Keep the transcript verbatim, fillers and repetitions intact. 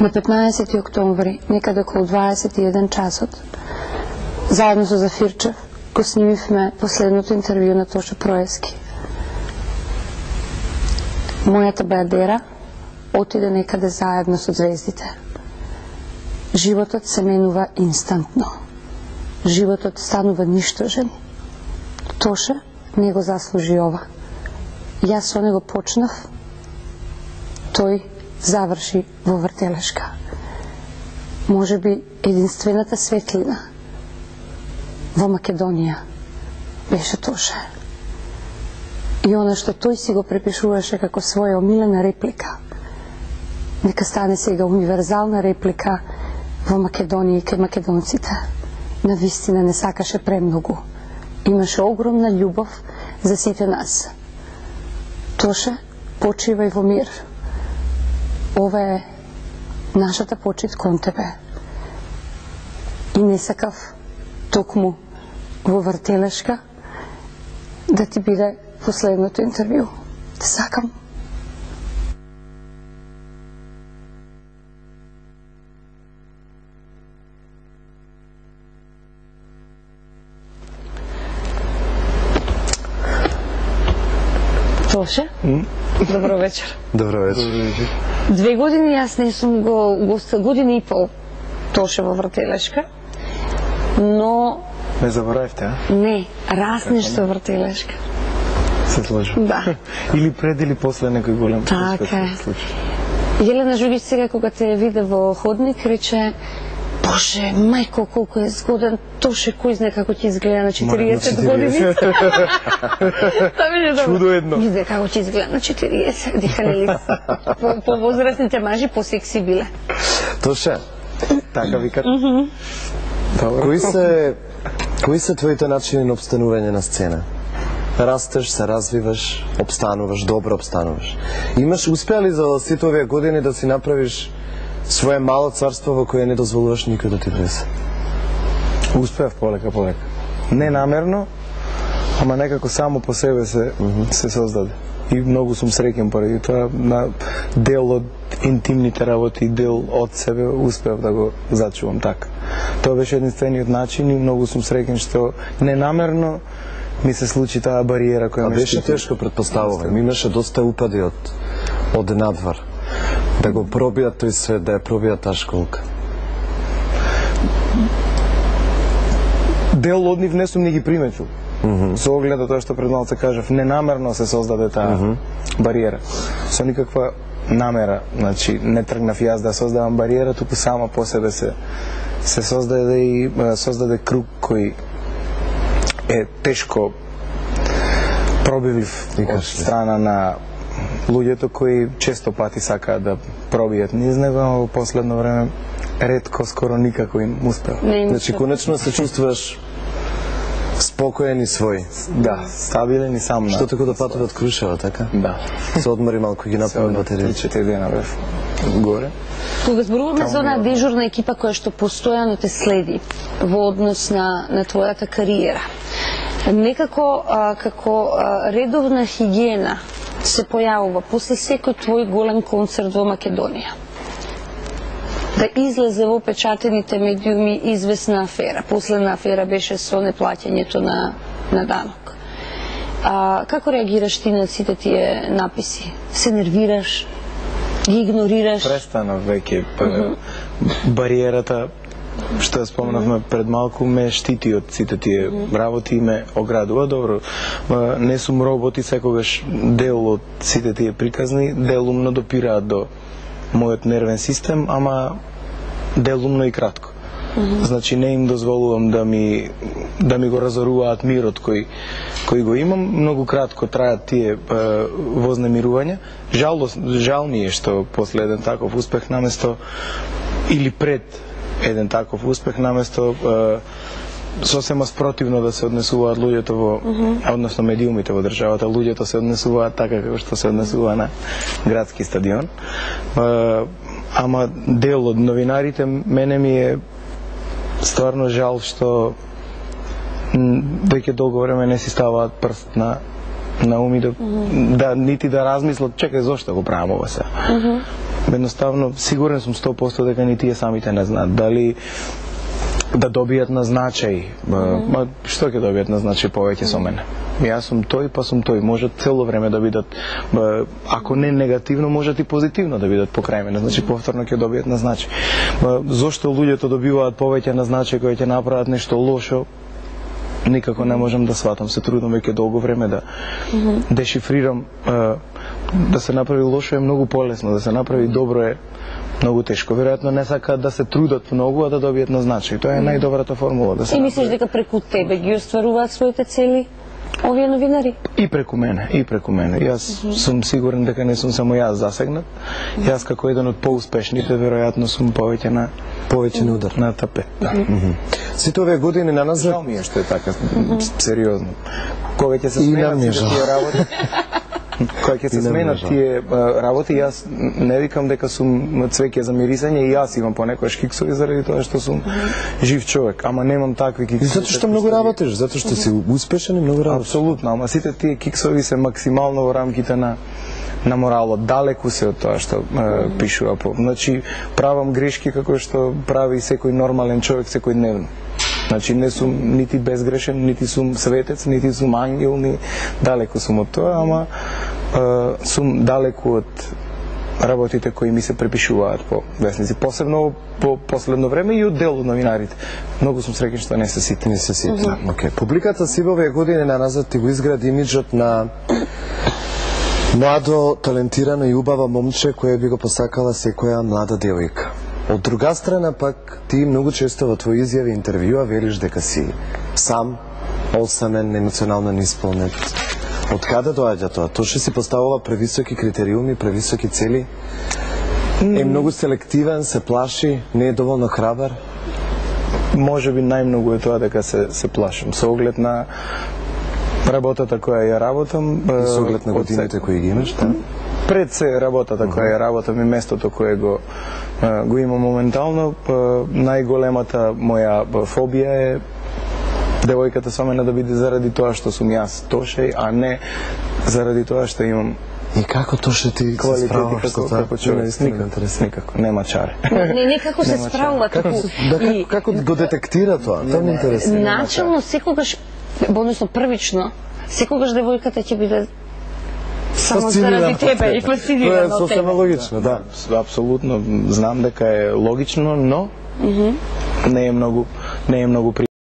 На петнаесети октомври, некаде околу дваесет и еден часот, заедно со Зафирчев, го снимивме последното интервју на Тоше Проески. Мојата беадера отиде некаде заедно со звездите. Животот се менува инстантно. Животот станува ништожен. Тоше не го заслужи ова. Јас со него почнав, тој заврши во вртелешка. Може би единствената светлина во Македонија беше Тоше. И она што тој си го препишуваше како своја омилена реплика, нека стане сега универзална реплика во Македонија и кај македонците. Навистина не сакаше премногу. Имаше огромна љубов за сите нас. Тоше, почивај во мир. Ова е нашата почит кон тебе. И не сакав токму во вртелешка да ти биде последното интервју. Те сакам. Тоше? Mm? Добро вечер. Добро вечер. Две години јас не сум го гостил, година и пол Тоше во вртелешка, но... Не заборавте, а? Не, разнеш со вртелешка. Се сложи? Да. Или пред или после некој голем така е. Јелена Жугич сега кога те виде во ходник рече: Боже, мајко, колку е згоден Тоше, кој знае како ќе изгледа на четириесет години. Чудо едно. Виде како ќе изгледа на четириесет, диха нели по возрастните мажи посекси биле. Тоше, така викат. Кои се кои се твоите начини на обстанување на сцена? Растеш, се развиваш, обстануваш, добро обстануваш. Имаш успеа ли за сите овие години да си направиш свое мало царство во кое не дозволуваш никој да ти влезе? Успеав полека, полека. Не намерно, ама некако само по себе се, mm -hmm. се создаде. И многу сум среќен поради тоа, на дел од интимните работи, дел од себе успеав да го зачувам така. Тоа беше единствениот начин и многу сум среќен што ненамерно ми се случи таа бариера која ме беше тешко, претпоставувам. Имаше доста упади од од надвор. Да го пробијат тој свет, да ја пробијат таа школка. Дел од нив не сум ни ги приметил. Mm -hmm. Со оглед на тоа што пред малце кажав, ненамерно се создаде таа mm -hmm. бариера. Со никаква намера, значи не тргнав јас да создавам бариера, туку сама по себе се се создаде и создаде круг кој е тешко пробивлив од страна на луѓето кои често пати сакаат да пробијат низ него, а во последно време ретко, скоро никако им успеа. Значи, конечно се чувствуваш спокоен и свој. Да, стабилен и сам. Што тако да патуват Крушева, така? Да. Се одмори малку ги направи батерија. Четири дена бев горе. Кога зборуваме за онаа дежурна екипа која што постојано те следи во однос на, на твојата кариера, некако а, како а, редовна хигиена се појавува после секој твој голем концерт во Македонија да излезе во печатените медиуми известна афера. Последна афера беше со неплаќањето на, на данок. А, како реагираш ти на сите тие написи? Се нервираш? Ги игнорираш? Престанав веќе. Mm -hmm. Бариерата, што ја споменавме mm -hmm. пред малку, ме штити од сите тие mm -hmm. работи и ме оградува. Добро, не сум робот и секогаш дел од сите тие приказни делумно допираат до мојот нервен систем, ама делумно и кратко. Mm -hmm. Значи не им дозволувам да ми да ми го разоруваат мирот кој кој го имам. Многу кратко траат тие е, вознемирувања. Жал, жал ми е што после еден таков успех наместо или пред еден таков успех наместо е, сосема спротивно да се однесуваат луѓето во, mm -hmm. односно медиумите во државата, луѓето се однесуваат така како што се однесува на градски стадион. Е, ама дел од новинарите, мене ми е стварно жал што веќе долго време не си ставаат прст на на ум и да, mm -hmm. да нити да размислат, чекај зошто го правам ова се. Mm -hmm. едноставно сигурен сум сто проценти дека ни тие самите не знаат дали да добијат на значај. Ма што ќе добијат на значај повеќе со мене? Јас сум тој, па сум тој. Може цело време да бидат, ако не негативно, можат и позитивно да бидат покрај мене. Значи повторно ќе добијат на значај. Зошто луѓето добиваат повеќе на значај кои ќе направат нешто лошо? Никако не можам да сватам. Се трудам веќе долго време да дешифрирам. Да се направи лошо е многу полесно, да се направи добро е многу тешко. Веројатно не сакаат да се трудат многу, а да добијат на значај. Тоа е најдобрата формула да се. И мислиш дека преку тебе ги остваруваат своите цели овие новинари? И преку мене, и преку мене. Јас mm -hmm. сум сигурен дека не сум само јас засегнат. Mm -hmm. Јас како еден од поуспешните веројатно сум повеќе на повеќе на удар на тапет. Да. Mm -hmm. Сите овие години на назад. Жал ми е што е така, mm -hmm. сериозно. Кога ќе се сменат тие работи? Кога ќе се сменат тие работи, јас не викам дека сум цвеќе за мирисање, и јас имам понекогаш киксови заради тоа што сум жив човек, ама немам такви киксови. Затоа што многу работиш, затоа што си успешен и многу работиш. Апсолутно, ама сите тие киксови се максимално во рамките на на моралот, далеку се од тоа што е, пишува. Значи, правам грешки како што прави секој нормален човек секојдневно. Значи, не сум нити безгрешен, нити сум светец, нити сум ангел, ни далеку сум од тоа, ама е, сум далеку од работите кои ми се препишуваат по весници, посебно по последно време и од дел од новинарите. Многу сум среќен што не се сити. Не се сити. Mm -hmm. Okay. Публиката си во овие години на назад ти го изгради имиджот на младо, талентирано и убава момче кое би го посакала секоја млада девојка. Од друга страна пак, ти многу често во твои изјави и интервјуа велиш дека си сам, осамен, емоционално неисполнет. Од каде доаѓа тоа? Тоа што си поставува превисоки критериуми, превисоки цели? Е многу селективен, се плаши, не е доволно храбар? Може би најмногу е тоа дека се, се плашам. Со оглед на работата која ја работам... И со оглед на годините кои ги имаш, да? Пред се работата која ја работам и местото кое го го има моментално, најголемата моја фобија е девојката со мене да биде заради тоа што сум јас Тошеј, а не заради тоа што имам. И како Тоше ти се справуваш како, како човек? Никако, никако, нема чаре. Не, не како се справува, како, да, како, како го детектира тоа? Тоа ми интересува. Начално секогаш, односно првично, секогаш девојката ќе биде само заради тебе и фасцинирана од тебе. Тоа е сосема логично, да. Апсолутно, знам дека е логично, но не е многу, не е многу